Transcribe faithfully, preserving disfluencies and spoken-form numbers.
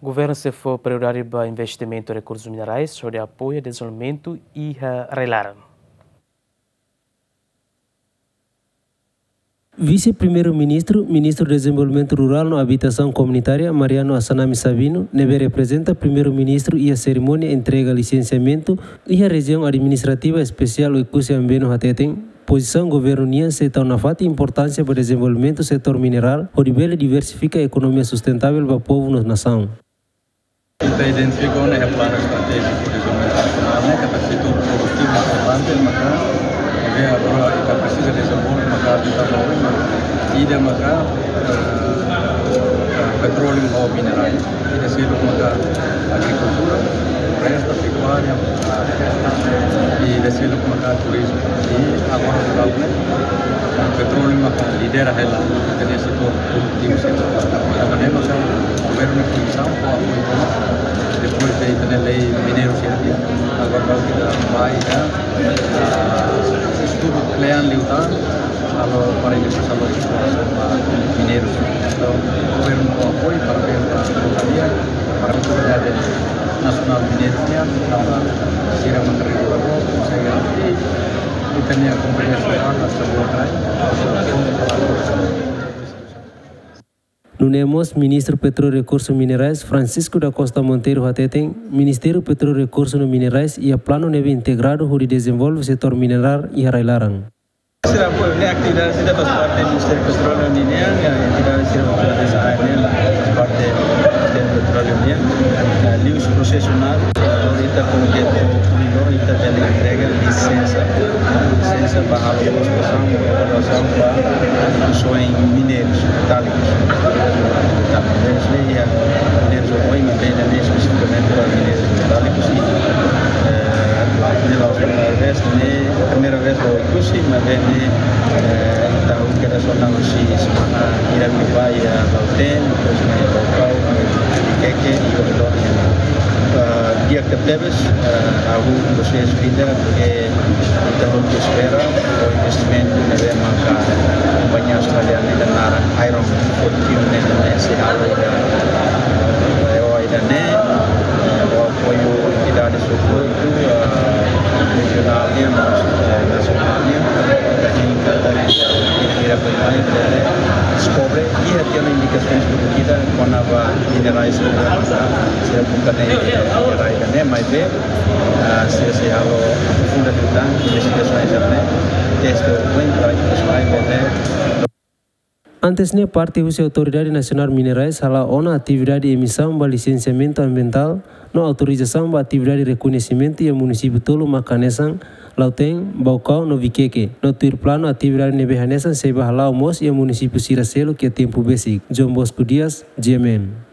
Governu sei fó prioridade ba investimentu rekursus minerais, hodi apoia dezenvolvimentu iha rai-laran. Vise-Primeiru-Ministru, Ministru Dezenvolvimentu Rurál no Abitasaun Komunitária, Mariano Assanami Sabino, ne'ebé reprezenta Primeiru-Ministru iha serimónia entrega lisensiamentu iha Rejiaun Administrativa Espesiál Oekusi Ambeno hateten, pozisaun governu nian sei tau nafatin importánsia ba dezenvolvimentu setór minerál, hodi bele diversifika ekonomia sustentável ba povu no nasaun. Ita identifika ona iha planu estratéjiku dezenvolvimentu nasionál ne'e katak setór produtivu importante maka, ne'ebé agora ita presiza dezenvolve maka ita maka, ida maka, eh, petróleu no minerais, ida seluk maka agrikultura, floresta, pekuária, i ida seluk maka turizmu. I agora, petróleu maka lidera hela ita-nia setór produtivu, setór. Tanba ne'e maka governu komisaun fó apoiu, depois de ita-nia lei mineiru sira, agora ita bá iha, ah, estudu kle'an liután, halo para depois halo esplorasaun ba mineirus. Entaun, governu fó apoiu para bele ba kompañia, para Autoridade Nasionál Mineiru nian, tanba sira maka regula boot, konsege atu ita-nia kompañia sira atu sebuah trai. Nune'e mós Ministru Petróleu Rekursu Minerais, Francisco da Costa Monteiro hateten, Ministériu Petróleu Rekursu no Minerais iha planu ne'ebé integradu hodi dezenvolve setór minerál iha rai-laran. Sira apoiu, ne'e atividade sira faz parte do Ministério Petróleo nian, atividade sira faz parte do Ministério Petróleo nian. Ah, liuhusi prosesu ne'e, agora ita komu ke koridor ita bele entrega lisensa, lisensa ba halo prospeksaun, evaluasaun ba produsaun mineirus metálikus. Tanba mineirus ne'e iha mineirus oioin, maibé ida-ne'e espesifikamente ba mineirus metálikus, eh, ne'e la'ós primeira vez, ne'e primeira vez ba Oekusi, maibé ne'e, eh, ita operasionál husi semana hirak ne'ebá iha Lautém, depois mai Baucau, mai Viqueque, i Babilónia. Ah, di'ak tebes, ah, ha'u gostaria esplika ke ita hotu espera, o investimentu ne'ebé maka kompañia australiana ida naran Iron Fortune ne'e, ne'e sei halo iha, eh, ida-ne'e, eh, ho apoiu entidades hotu, eh, rejionál nian, mós, eh, nasionál nian, ita hein katak ita bele mai, bele deskobre, iha tiha ona indikasaun produtiva kona-ba minerais sira buka ne'e, minerais ne'e, maibé, ah, sira sei halo aprofunda liután investigasaun sira-ne'e, teste oioin para ita sai bele. Antes ne'e, parte husi Autoridade Nasionál Minerais hala'o ona atividade emisaun ba lisensiamentu ambientál no autorizasaun ba atividade rekoñesimentu iha munisípiu tolu maka hanesan Lautém, Baucau no Viqueque. No tuir planu, atividade ne'ebé hanesan sei bá hala'o mós iha munisípiu sira seluk iha tempu besik. João Bosco Dias, G M N.